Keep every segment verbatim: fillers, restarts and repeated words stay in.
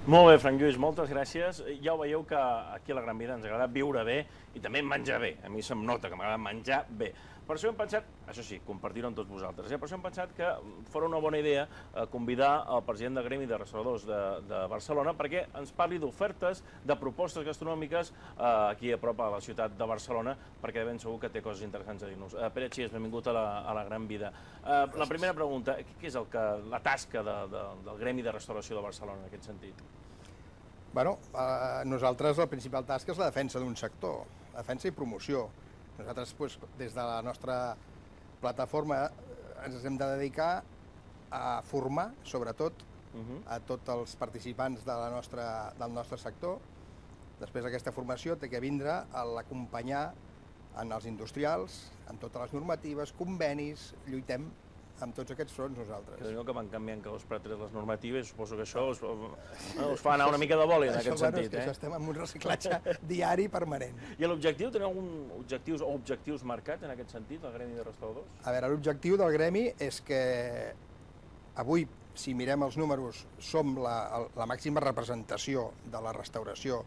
Molt bé, Frank Lluís, moltes gràcies. Ja ho veieu que aquí a la Gran Via ens agrada viure bé i també menjar bé. A mi se'm nota que m'agrada menjar bé. Per això hem pensat, això sí, compartir-ho amb tots vosaltres, eh? per això hem pensat que fora una bona idea eh, convidar el president del Gremi de Restauradors de, de Barcelona perquè ens parli d'ofertes, de propostes gastronòmiques eh, aquí a prop a la ciutat de Barcelona, perquè de ben segur que té coses interessants a dir-nos. Eh, Pere Xies, benvingut a la, a la Gran Vida. Eh, la primera pregunta, què és el que, la tasca de, de, del Gremi de Restauració de Barcelona en aquest sentit? Bueno, eh, nosaltres la principal tasca és la defensa d'un sector, la defensa i promoció. Nosaltres, pues, des de la nostra plataforma, ens hem de dedicar a formar, sobretot, uh-huh. a tots els participants de la nostra, del nostre sector. Després d'aquesta formació té que vindre a l'acompanyar en els industrials, amb totes les normatives, convenis, lluitem amb tots aquests fronts nosaltres. Que que van canviant cada dos per tres les normatives, suposo que això us, us fa anar una mica de boli en això, aquest bueno, sentit. Eh? Això estem en un reciclatge diari permanent. I l'objectiu, teniu algun objectius o objectius marcats en aquest sentit, el Gremi de Restauradors? A veure, l'objectiu del Gremi és que avui, si mirem els números, som la, la màxima representació de la restauració,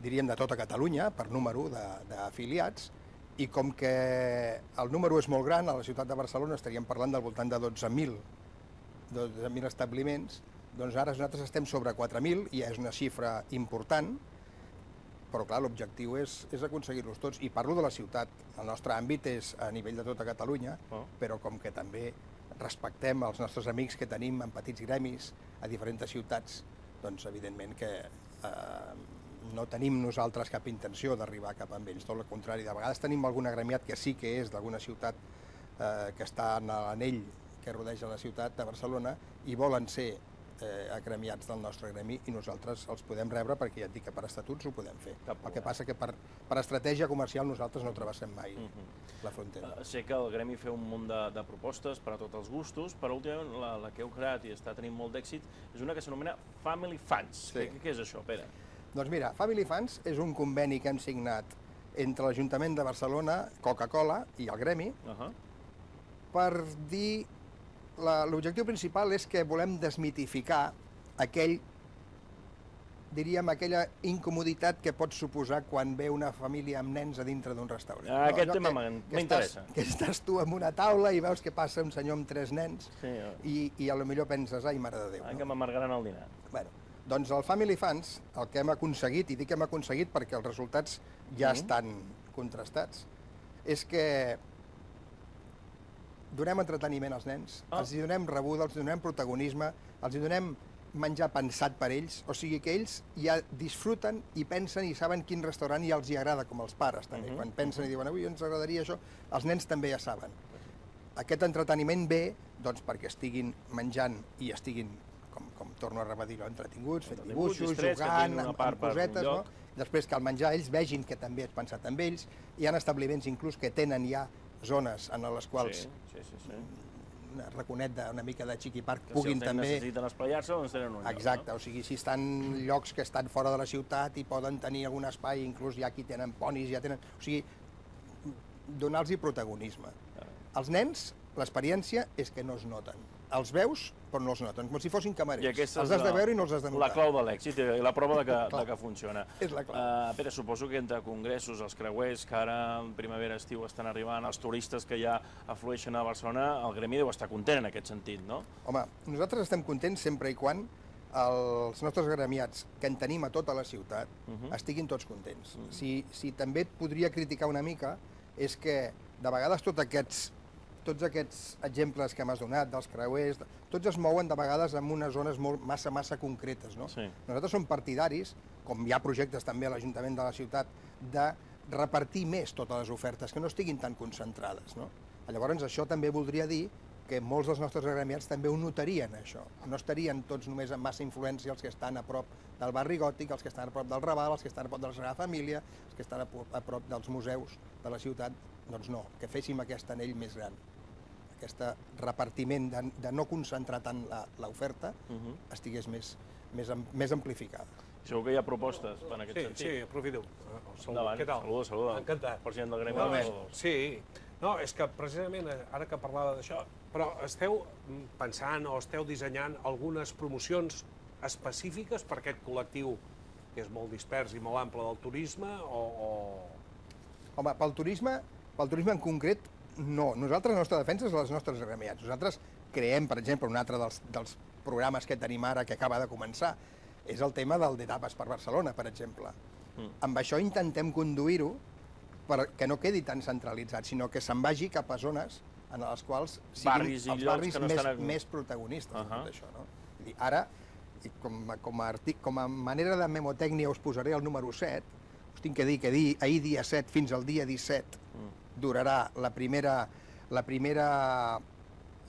diríem, de tota Catalunya, per número d'afiliats, i com que el número és molt gran, a la ciutat de Barcelona estaríem parlant del voltant de dotze mil establiments, doncs ara nosaltres estem sobre quatre mil, i és una xifra important, però clar, l'objectiu és, és aconseguir-los tots. I parlo de la ciutat, el nostre àmbit és a nivell de tota Catalunya, oh. però com que també respectem els nostres amics que tenim en petits gremis a diferents ciutats, doncs evidentment que eh, no tenim nosaltres cap intenció d'arribar cap amb ells, tot el contrari. De vegades tenim algun agremiat que sí que és d'alguna ciutat eh, que està en l'anell que rodeja la ciutat de Barcelona i volen ser eh, agremiats del nostre gremi i nosaltres els podem rebre perquè ja et dic que per estatuts ho podem fer. Cap el que passa que per, per estratègia comercial nosaltres no travessem mai uh -huh. la frontera. Uh, sé que el gremi fa un munt de, de propostes per a tots els gustos, però últimament la, la que heu creat i està tenint molt d'èxit és una que s'anomena Family Funds. Sí. Què, què és això, Pere? Doncs mira, Family Funds és un conveni que hem signat entre l'Ajuntament de Barcelona, Coca-Cola i el Gremi, uh -huh. per dir... L'objectiu principal és que volem desmitificar aquell, diríem, aquella incomoditat que pot suposar quan ve una família amb nens a dintre d'un restaurant. Ah, aquest no, tema m'interessa. Que estàs tu en una taula i veus que passa un senyor amb tres nens sí, ja. i, i a lo millor penses, ai, mare de Déu. Ah, no? que m'amargaran el dinar. Bueno, doncs el Family Funds, el que hem aconseguit, i dic que hem aconseguit perquè els resultats ja mm. estan contrastats, és que donem entreteniment als nens, oh. els hi donem rebuda, els hi donem protagonisme, els hi donem menjar pensat per ells, o sigui que ells ja disfruten i pensen i saben quin restaurant i els hi agrada, com els pares també. Uh -huh. Quan pensen i diuen, avui ens agradaria això, els nens també ja saben. Aquest entreteniment ve doncs, perquè estiguin menjant i estiguin, com, com torno a repetir-ho, entretinguts, fent dibuixos, distrets, jugant, amb, amb cosetes, no? Després que al menjar ells vegin que també és pensat amb ells. Hi ha establiments inclús que tenen ja zones en les quals sí, sí, sí, sí. un raconet de, una mica de xiqui parc que puguin si també... necessiten espaiar-se, doncs tenen un lloc. Exacte, no? O sigui, si estan llocs que estan fora de la ciutat i poden tenir algun espai, inclús hi ha qui tenen ponis, ja tenen... O sigui, donar-los protagonisme. Ah. Els nens, l'experiència és que no es noten. Els veus, però no els noten, com si fossin camarers. Els has de veure i no els has de notar. La clau de l'èxit i la prova de que, de que funciona. És la clau. Uh, Pere, suposo que entre congressos, els creuers, que ara en primavera, estiu estan arribant, els turistes que ja aflueixen a Barcelona, el gremi deu estar content en aquest sentit, no? Home, nosaltres estem contents sempre i quan els nostres gremiats, que en tenim a tota la ciutat, uh -huh. estiguin tots contents. Uh -huh. si, si també et podria criticar una mica, és que de vegades tots aquests tots aquests exemples que m'has donat, dels creuers, tots es mouen de vegades en unes zones molt, massa, massa concretes, no? Sí. Nosaltres som partidaris, com hi ha projectes també a l'Ajuntament de la ciutat, de repartir més totes les ofertes, que no estiguin tan concentrades, no? Llavors, això també voldria dir que molts dels nostres agremiats també ho notarien, això. No estarien tots només amb massa influència els que estan a prop del barri gòtic, els que estan a prop del Raval, els que estan a prop de la Sagrada Família, els que estan a prop dels museus de la ciutat. Doncs no, que féssim aquest anell més gran. Aquest repartiment de, de no concentrar tant l'oferta uh -huh. estigués més, més, més amplificada. Segur que hi ha propostes en aquest sí, sentit. Sí, aprofito. Endavant. Què tal? Saluda, saluda. Encantat. President del Gremi no, de Restauradors. Sí, no, és que precisament ara que parlava d'això, però esteu pensant o esteu dissenyant algunes promocions específiques per aquest col·lectiu que és molt dispers i molt ample del turisme o... o... Home, pel turisme, pel turisme en concret, no. Nosaltres, la nostra defensa és les nostres agremiats. Nosaltres creem, per exemple, un altre dels, dels programes que tenim ara, que acaba de començar, és el tema del d'etapes per Barcelona, per exemple. Mm. Amb això intentem conduir-ho perquè no quedi tan centralitzat, sinó que se'n vagi cap a zones en les quals siguin barris els barris no més, estan... més protagonistes uh -huh. de tot això. No? Vull dir, ara, com a, com, a artic, com a manera de memotècnia, us posaré el número set. Us tinc que dir que dir, ahir dia set fins al dia disset mm. durarà la primera, la primera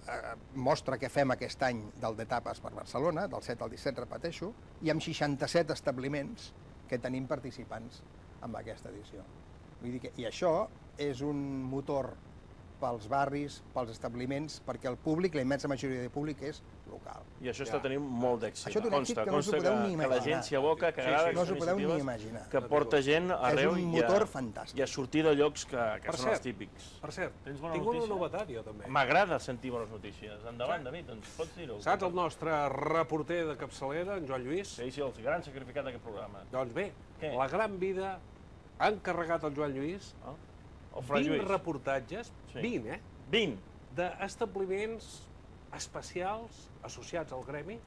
eh, mostra que fem aquest any del d'etapes per Barcelona, del set al disset, repeteixo, i amb seixanta-set establiments que tenim participants en aquesta edició. Vull dir que, i això és un motor pels barris, pels establiments, perquè el públic, la immensa majoria del públic, és local. I això està tenint molt d'èxit. Això té un èxit que no us ho podeu ni imaginar. Que la gent s'hi aboca, que agrada no us ho podeu ni imaginar. Que porta gent arreu i a, i a sortir de llocs que, que són cert, els típics. Per cert, Tens bona tinc notícia? una novetat jo també. M'agrada sentir bones notícies. Endavant, David, ens pots dir-ho? Saps el nostre reporter de capçalera, en Joan Lluís? Sí, sí, el gran sacrificat d'aquest programa. Doncs bé, Què? La Gran Vida ha encarregat al Joan Lluís Oh? El Fran vint Lluís. reportatges, Sí. vint, eh? vint. D'establiments especials associats al gremi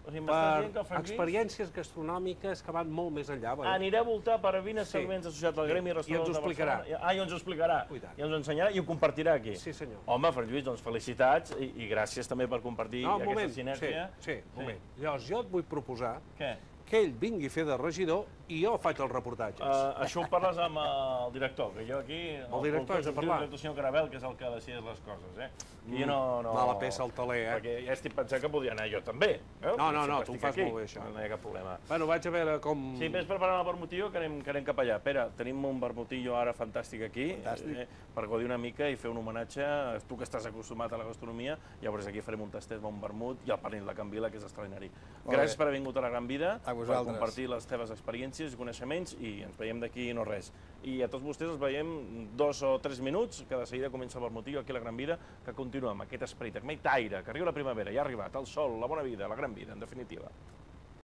O sigui, m'estàs dient que per el Fran Lluís experiències gastronòmiques que van molt més enllà. Veure? anirà a voltar per vint establiments associats al gremi i I ens restaurants ho de explicarà. Barcelona. Ah, i ens ho explicarà. Ui, tant. I ens ho ensenyarà i ho compartirà aquí. Sí, senyor. Home, Fran Lluís, doncs felicitats i, i gràcies també per compartir No, un aquesta moment, sinèrgia. sí, sí, un moment. Llavors, jo et vull proposar Què? que ell vingui a fer de regidor i jo faig els reportatges. Uh, això ho parles amb el director, que jo aquí... El director és a parlar. El director, senyor Carabel, que és el que decideix les coses, eh? I jo no, no... Mala peça al taler, eh? Perquè ja estic pensant que podria anar jo també. Eh? No, no, no, Sempre tu ho estic fas aquí. molt bé, això. No hi ha cap problema. Bueno, vaig a veure com... Sí, vés preparant el vermutillo, que anem, que anem cap allà. Pere, tenim un vermutillo ara fantàstic aquí, Fantàstic. eh, per gaudir una mica i fer un homenatge. Tu que estàs acostumat a la gastronomia, llavors aquí farem un tastet amb un vermut i el pernil de Can Vila, que és extraordinari. Molt Gràcies bé. per haver vingut a la Gran Vida, A per vosaltres. compartir les teves experiències i coneixements, i ens veiem d'aquí no res. I a tots vostès els veiem dos o tres minuts, que de seguida comença el vermutillo aquí a la Gran Vida, que continua amb aquest esperit, amb aquest aire, que arriba la primavera, ja ha arribat el sol, la bona vida, la Gran Vida, en definitiva.